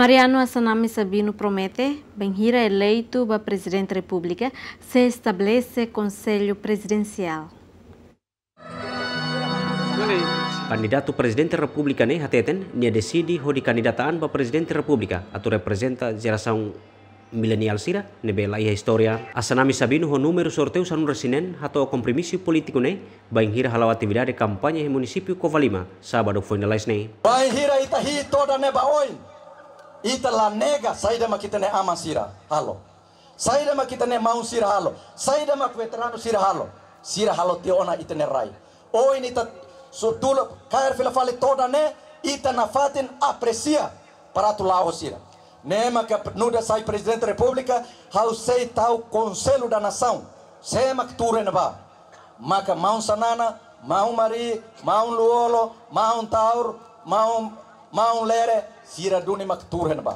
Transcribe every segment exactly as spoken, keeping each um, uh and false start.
Mariano Assanami Sabino promete, bainhira eleitu ba Prezidente Repúblika, sei estabelese Konsellu Prezidensiál. Kandidatu Prezidente Repúblika ne'e hateten, nia deside hodi kandidata an ba Prezidente Repúblika, atu reprezenta jerasaun mileniál sira ne'ebé la iha istória. Assanami Sabino ho númeru sorteiu sanulu-resin-neen hato'o kompromisu polítiku ne'e, bainhira hala'o atividade kampaña iha munisípiu Covalima, sábadu foin lalais ne'e. Bainhira ita hi'it todan ne'e ba oin, ita la nega saida mak ita-nia aman sira halo. Saida mak ita-nia maun sira halo. Saida mak veteranu sira halo. Sira halo tiha ona ita-nia rai. Oin ita sutula kaer fila fali todan ne'e, ita nafatin apresia para atu la'o ho sira. Ne'e maka nu'udar sai Prezidente Repúblika, ha'u sei tau Konsellu da Nasaun. Sé mak tuur iha ne'ebá? Maka maun Xanana, maun Mari, maun Lú-Olo, maun Taur, maun, maun Lere, sira duni mak tuur iha ne'ebá.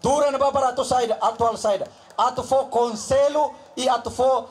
Tuur iha ne'ebá para atu saida, atu halo saida. Atu fó konsellu i atu fó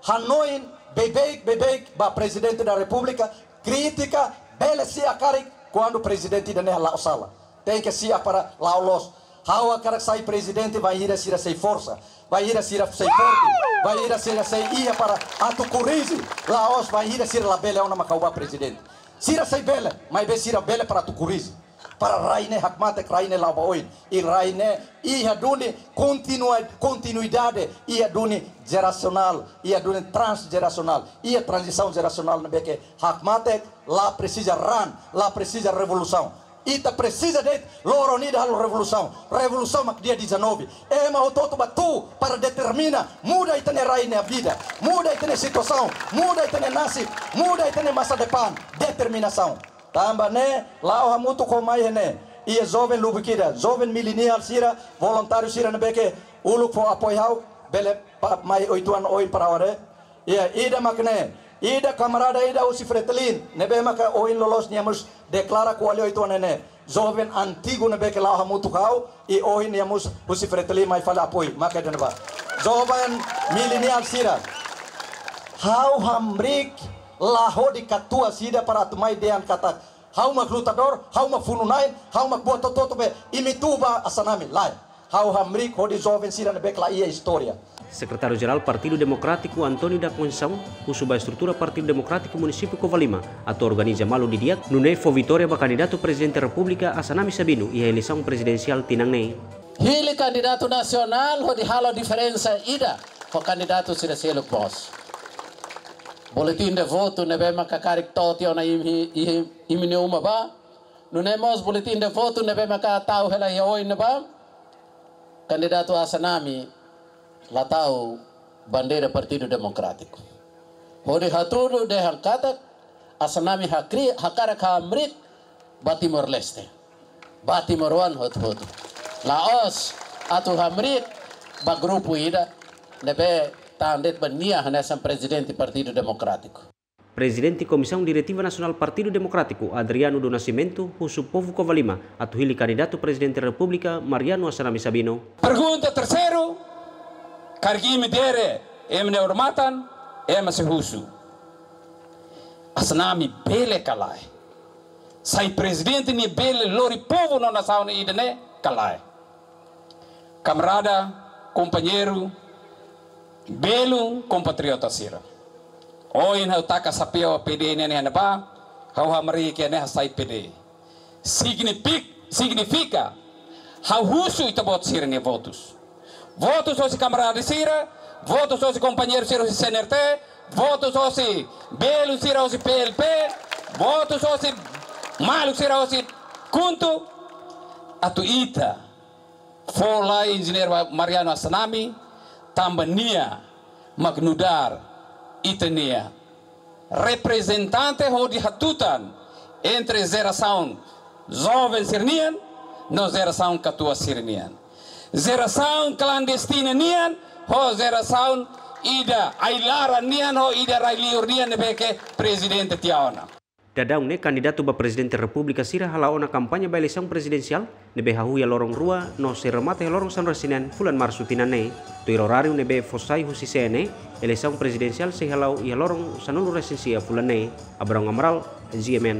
hanoin beibeik, beibeik ba Prezidente da Repúblika, kritika, bele si'ak karik, kuandu prezidente ida-ne'e la'o sala. Tenke si'ak para la'o loos. Ha'u hakarak sai prezidente bainhira sira sei forsa, bainhira sira sei forte, bainhira sira sei iha para atu korrije, la'ós bainhira sira labele ona mak ha'u bá prezidente. Sira sei bele, maibé sira bele para atu korrije. Para rai ne'e hakmatek, rai ne'e la'o ba oin. I rai ne'e iha duni kontinua-, kontinuidade, iha duni jerasionál, iha duni transjerasionál, iha tranzisaun jerasionál ne'ebé ke hakmatek, la presiza ran, la presiza revolusaun. Ita presiza de'it loron ida halo revolusaun. Revolusaun mak dia dezanove. Ema hotu-hotu bá tuur para determina, muda ita-nia rai nia vida, muda ita-nia situasaun, muda ita-nia nasib, muda ita-nia masa depan. Determinasaun. Tanba ne'e, la'o hamutuk ho mai iha ne'e. Iha joven lubuk ida, joven mileniál sira, voluntáriu sira ne'ebé ke uluk fó apoiu ha'u, bele pa-, mai uitoan oin para ha'u haree. Iha ida mak ne'e, ida kamarada ida husi Fretilin, ne'ebé maka ohin loloos nia mós deklara ko'alia uitoan ne'e. Joven antigu ne'ebé ke la'o hamutuk ho ha'u, i ohin nia mós husi Fretilin mai fali apoiu, maka ida-ne'ebá. Joven mileniál sira. Ha'u hamriik la hodi katuas ida para atu mai dehan katak ha'u mak lutadór, ha'u mak funu-na'in, ha'u mak buat hotu-hotu be, imi tuur ba Assanami, lae. Ha'u hamriik hodi joven sira ne'ebé ke la iha istória. Sekretáriu Jerál Partidu Demokrátiku António da Conceição husu ba estrutura Partidu Demokrátiku Munisípiu Covalima atu organiza malu didi'ak, nune'e fó vitória ba kandidatu Prezidente Repúblika Assanami Sabino iha eleisaun prezidensiál tinan ne'e. Hili kandidatu nasionál hodi halo diferensa ida ho kandidatu sira seluk mós. Boletin de votu ne'ebé maka karik to'o tiha ona imi, imi, imi-nia uma bá. Nune'e mós boletin de votu ne'ebé maka tau hela iha oin ne'ebá. Kandidatu Assanami la tau bandeira Partidu Demokrátiku. Hodi hatudu dehan katak Assanami hakri-, hakarak hamriik ba Timor-Leste, ba timoroan hotu-hotu. La'ós atu hamriik ba grupu ida ne'ebé tan de'it ba nia hanesan prezidente Partidu Demokrátiku. Prezidente Komisaun Diretiva Nasionál Partidu Demokrátiku, Adriano do Nascimento, husu povu Covalima atu hili kandidatu Prezidente Repúblika, Mariano Assanami Sabino. Pergunta terseiru, karik imi dere, ema nia odamatan, ema sei husu. Assanami bele ka lae? Sai prezidente ne'e bele lori povu no nasaun ida-ne'e ka lae? Kamarada, kompañeiru, belun kompatriota sira. Ohin ha'u taka xapeu P D ne'e iha ne'ebá, ha'u hamriik iha ne'e hasai P D. Signifik-, signifika, ha'u husu ita-boot sira-nia votus. Votus hosi kamarada sira, votus hosi kompañeiru sira hosi C N R T, votus hosi belun sira hosi P L P, votus hosi maluk sira hosi KHUNTO, atu ita fó lai Enjeñeiru Mariano Assanami, tanba nia mak nu'udar ita-nia reprezentante hodi hatutan entre jerasaun joven sira-nian no jerasaun katuas sira-nian. Jerasaun klandestina nian ho jerasaun ida ai-laran nian ho ida rai-liur nian ne'ebé ke prezidente tiha ona. Daudaun ne'e kandidatu ba Prezidente Repúblika sira hala'o ona kampaña ba eleisaun prezidensiál ne'ebé hahú iha loron rua no sei remata iha loron sanulu-resin-neen fulan Marsu tinan ne'e. Tuir oráriu ne'ebé fó sai husi C N E, eleisaun prezidensiál sei hala'o iha loron sanulu-resin-sia fulan ne'e. Abrão Amaral, G M N.